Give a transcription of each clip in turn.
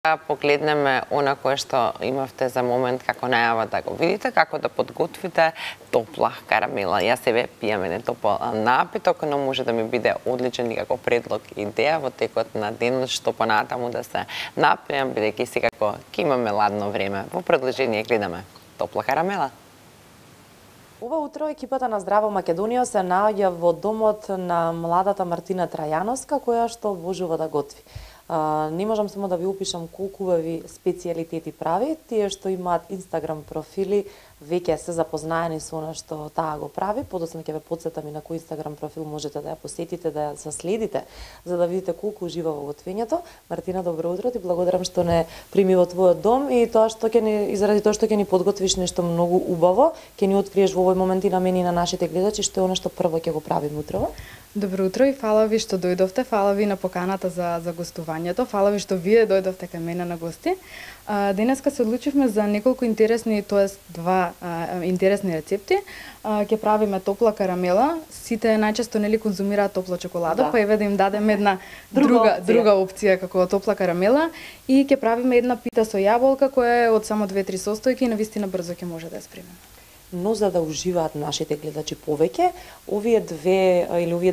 Погледнеме она кое што имавте за момент како најава да го видите, како да подготвите топла карамела. Јас себе пијам еден топол напиток, но може да ми биде одличен и како предлог и идеја во текот на денот што понатаму да се напијам, бидејќи секако ќе имаме ладно време. Во продолжение гледаме топла карамела. Ова утро екипата на Здраво Македонија се наоѓа во домот на младата Мартина Трајановска, која што обожува да готви. Не можам само да ви опишам колку убави специјалитети прави. Тие што имаат Инстаграм профили веќе се запознаени со она што таа го прави. Подоцна ќе ве потсетам и на кој Инстаграм профил можете да ја посетите, да ја следите, за да видите колку ужива во готвењето. Мартина, добро утро, ти благодарам што не прими во твојот дом и тоа што ќе ни изради тоа што ќе ни подготвиш нешто многу убаво, ќе ни откриеш во овој момент и на мене и на нашите гледачи што е она што прво ќе го правиме утрово. Добро утро и фала ви што дојдовте, фала ви на поканата за гостувањето, фала ви што вие дојдовте кај мене на гости. Денеска се одлучивме за неколку интересни, тоест два интересни рецепти. Ќе правиме топла карамела. Сите најчесто нели конзумираат топла чоколада, па еве да им дадеме една друга опција како топла карамела и ќе правиме една пита со јаболка која е од само 2-3 состојки и навистина брзо ќе може да ја спремиме. Но за да уживаат нашите гледачи повеќе, овие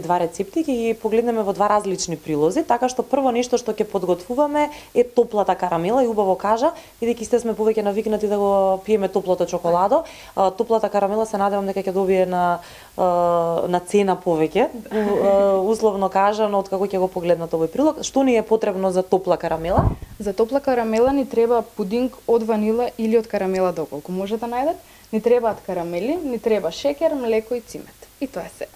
два рецепти ќе ги погледнеме во два различни прилози, така што прво нешто што ќе подготвуваме е топлата карамела и убаво кажа, бидејќи сме повеќе навикнати да го пиеме топлото чоколадо, топлата карамела се надевам дека ќе добие на цена повеќе, условно кажано, откако ќе го погледнат овој прилог. Што ни е потребно за топла карамела? За топла карамела ни треба пудинг од ванила или од карамела доколку може да најдат. Ни требаат карамели, ни треба шеќер, млеко и цимет. И тоа е се.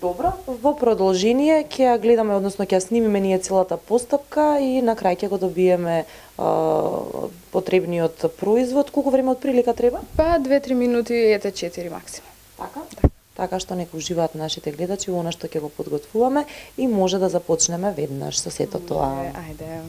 Добро, во продолжение ќе ја гледаме, односно ќе ја снимиме ние целата постапка и на крај ќе го добиеме потребниот производ. Колку време од прилика треба? Па 2-3 минути, ете 4 максимум. Така? Така што нека уживаат нашите гледачи во она што ќе го подготвуваме и може да започнеме веднаш со сето тоа. Ајде.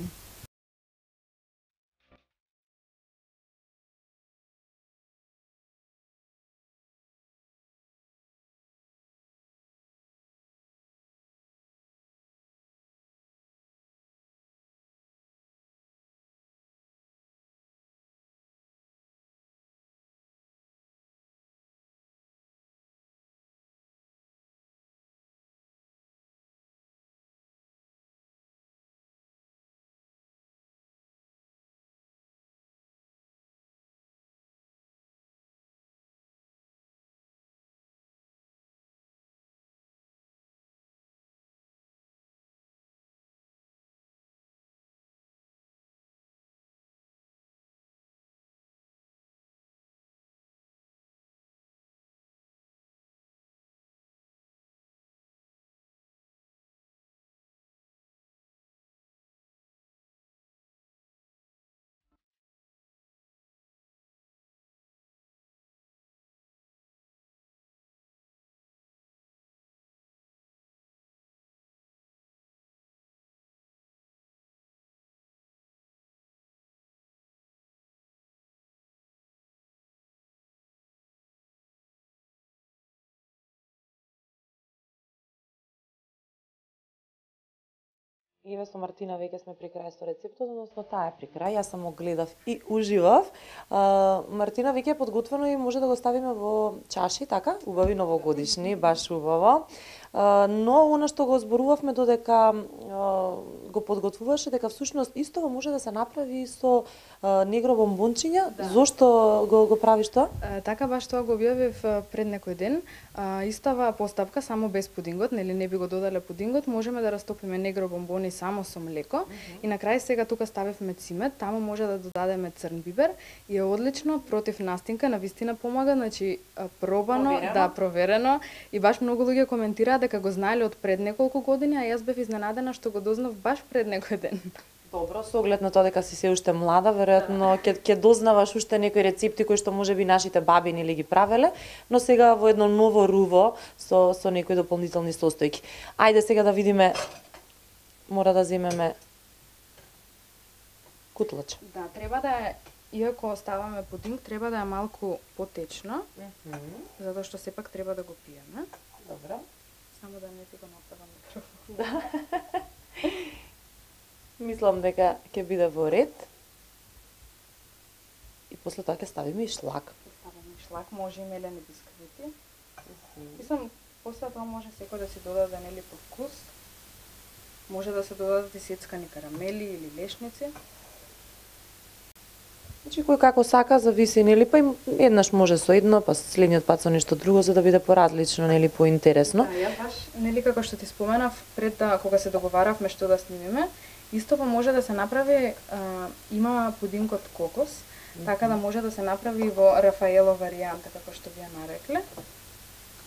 Еве со Мартина веќе сме при крај со рецептот, односно таа е при крај, јас само гледав и уживав. Мартина веќе е подготвено и може да го ставиме во чаши, така? Убави новогодишни, баш убаво. Но она што го зборувавме додека го подготвуваше, дека всушност истово може да се направи и со негро бомбончиња. Да. Зошто го правиш тоа? Така баш тоа го објавив пред некој ден. Истава постапка, само без пудингот, нели не би го додале пудингот, можеме да растопиме негро бомбони само со млеко и на крај сега тука ставивме цимет, таму може да додадеме црн бибер и е одлично против настинка, навистина помага, значи пробано, проверено и баш многу луѓе коментираат дека го знаеле од пред неколку години, а јас бев изненадена што го дознав баш пред некој ден. Добро, со оглед на тоа дека си се уште млада, веројатно ќе дознаваш уште некои рецепти кои што можеби нашите баби нели ги правеле, но сега во едно ново руво со некои дополнителни состојки. Ајде сега да видиме, мора да земеме кутлач. Да, треба да е, иако ставаме пудинг, треба да е малку потечно, затоа што сепак треба да го пиеме. Добро. Само да не ти го нападам микрофон. Да. Мислам дека ќе биде во ред. После тоа ќе ставиме и шлак. Ставаме шлак, може и мелени бисквити. Мислам, после тоа може секој да си додаде нели по вкус. Може да се додадат и сецкани карамели или лешници. Значи кој како сака, зависи, нели, па еднаш може со едно, па следниот пат со нешто друго, за да биде поразлично, нели, поинтересно. Да, ја баш, нели, како што ти споменав, пред да, кога се договаравме што да снимиме, исто па може да се направи, има пудинг од кокос, така да може да се направи во Рафаело варијанта, како што вие нарекле.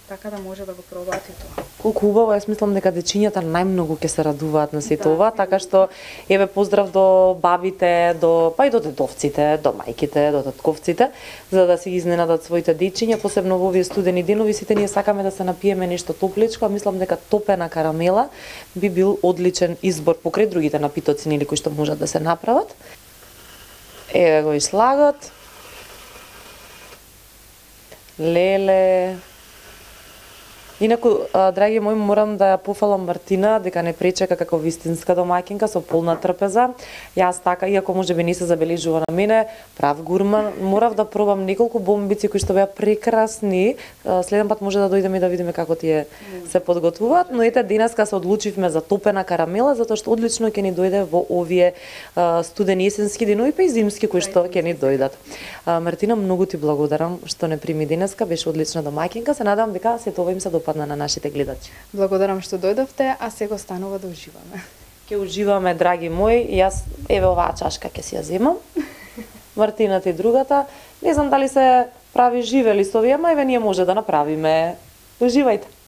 Така да може да го пробаат и тоа. Колку убаво, јас мислам дека дечињата најмногу ќе се радуваат на сето ова, така што еве поздрав до бабите, па и до дедовците, до мајките, до татковците, за да си изненадат своите дечиња, посебно во овие студени денови, сите ние сакаме да се напиеме нешто топличко, а мислам дека топена карамела би бил одличен избор покрај другите напитоци нели кои што можат да се направат. Еве го и слагот. Леле. Инаку, драги мои, морам да ја пофалам Мартина дека не пречека како вистинска домаќинка со полна трпеза. Јас така, иако можеби не се забележува на мене, прав гурман, морав да пробам неколку бомбици кои што беа прекрасни. Следен пат може да дојдеме и да видиме како тие се подготвуваат, но ете денеска се одлучивме за топена карамела затоа што одлично ќе ни дојде во овие студени есенски денови па и зимски кои што ќе ни дојдат. Мартина, многу ти благодарам што не прими денеска, беше одлична домаќинка. Се надевам дека сето ова им се допадна на нашите гледачи. Благодарам што дојдовте, а сега останува да уживаме. Ќе уживаме, драги мои. Јас еве оваа чашка ќе си ја земам. Мартина ти другата. Не знам дали се прави живе листови, ама еве ние може да направиме. Уживајте.